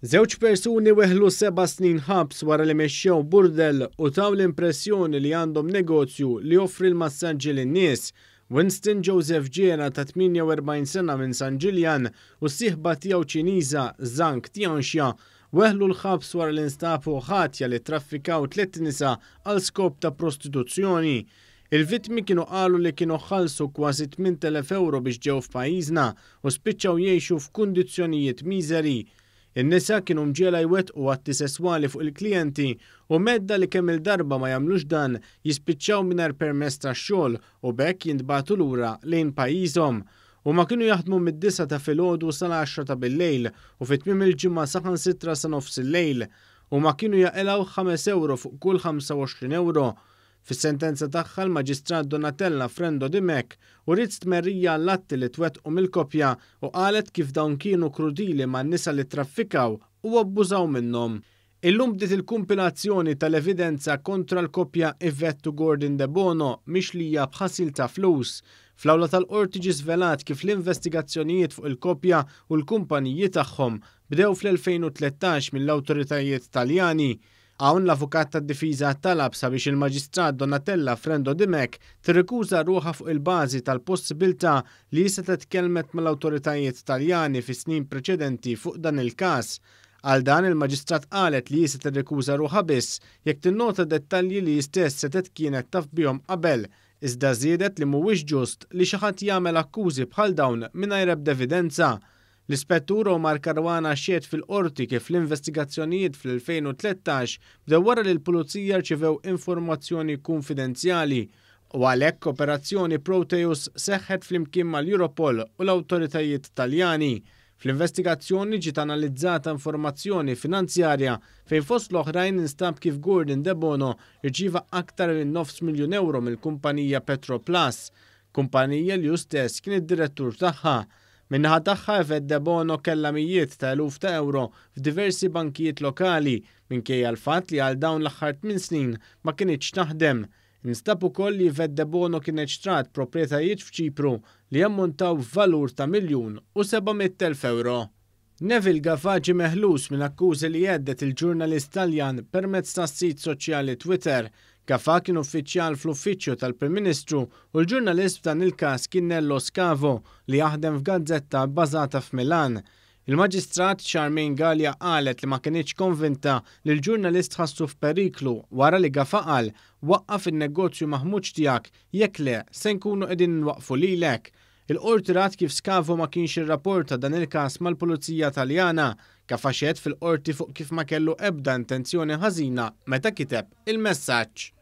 Żewġ persuni weħlu 7 snin ħabs wara li mexxew burdel u taw l-impressjoni li għandhom negozju li joffri l-massaġġi lin-nies. Winston Joseph Ġera ta' 48 sena minn San Ġiljan u s-sieħba tiegħu Ċiniża Zhang Tianxia weħlu l-ħabs wara li nstabu ħatja li traffikaw tliet nisa għal skop ta' prostituzzjoni. Il-vittmi kienu qalu li kienu ħallsu kważi 8,000 euro biex ġew f'pajjiżna u spiċċaw jgħixu f'kundizzjonijiet miżeri. In-nisa kienu mġiegħla jwettqu atti sesswali fuq il-klijenti u mhedda li kemm il-darba ma jagħmlux dan jispiċċaw mingħajr permess tax-xogħol u b'hekk jintbagħtu lura lejn pajjiżhom. Huma kienu jaħdmu mid-9 ta' filgħodu sal-10 ta' bil-lejl u fi tmiem il-ġimgħa saħansitra sa nofs il-lejl. Huma kienu jaqilgħu 5 euro fuq kull 25 euro. Fis-sentenza tagħha, l-Maġistrat Donatella Frendo Dimech uriet stmerrija l-atti li twettqu mill-koppja u qalet kif dawn kienu krudili man-nisa li traffikaw u abbużaw minnhom. Illum bdiet il-kumpilazzjoni tal-evidenza kontra l-koppja Yvette u Gordon De Bono mixlija b'ħasil ta' flus. Fl-awla tal-qorti ġi żvelat kif l-investigazzjonijiet fuq il-koppja u l-kumpaniji tagħhom bdew fl-2013 mill-awtoritajiet Taljani. Hawn l-avukat tad-difiża talab sabiex il-Maġistrat Donatella Frendo Dimech tirrikuża ruħha fuq il-bażi tal-possibilità li setgħet tkellmet mal-awtoritajiet Taljani fi snin preċedenti fuq dan il-każ. Għal dan, il-Maġistrat qalet li se tirrikuża ruħha biss jekk tinnota dettalji li stess setgħet kienet taf bihom qabel, iżda żiedet li mhuwiex ġust li xi ħadd jagħmel akkużi bħal dawn mingħajr ebda evidenza. L-Ispettur Omar Caruana xehed fil-qorti kif l-investigazzjonijiet fl-2013 bdew wara li l-pulizija rċivew informazzjoni konfidenzjali u għalhekk operazzjoni Proteus seħħet flimkien mal-Europol u l-awtoritajiet Taljani. Fl-investigazzjoni ġiet analizzata informazzjoni finanzjarja fejn fost l-oħrajn instab kif Gordon De Bono rċieva aktar minn 500,000 euro mill-kumpanija Petroplus, kumpanija li hu stess kien id-direttur tagħha. Min-naħa tagħha, Yvette De Bono kellha mijiet ta' eluf ta' euro f'diversi bankijiet lokali minkejja l-fatt li għal dawn l-aħħar 8 snin ma kinitx taħdem. Instab ukoll li Yvette De Bono kienet xtrat proprjetajiet f'Ċipru li jammontaw valur ta' 1,700,000 euro. Neville Gafà ġie meħlus minn akkużi li hedded il-ġurnalist Taljan permezz tas-sit soċjali Twitter. Gafà kien uffiċjal fl-uffiċċju tal-Prim Ministru u l-ġurnalist f'dan il-każ kien Nello Scavo li jaħdem f'gazzetta bbażata f'Milan. Il-Maġistrat Charmaine Gallia qalet li ma kinitx konvinta li l-ġurnalist ħassu f'periklu wara li Gafà qal: "Waqqaf in-negozju maħmuġ tiegħek, jekk le se nkunu qegħdin nwaqfu lilek." Il-qorti rat kif Scavo ma kienx irrapporta dan il-każ mal-Pulizija Taljana. Gafà xehed fil-qorti fuq kif ma kellu ebda intenzjoni ħażina meta kiteb il-messaġġ.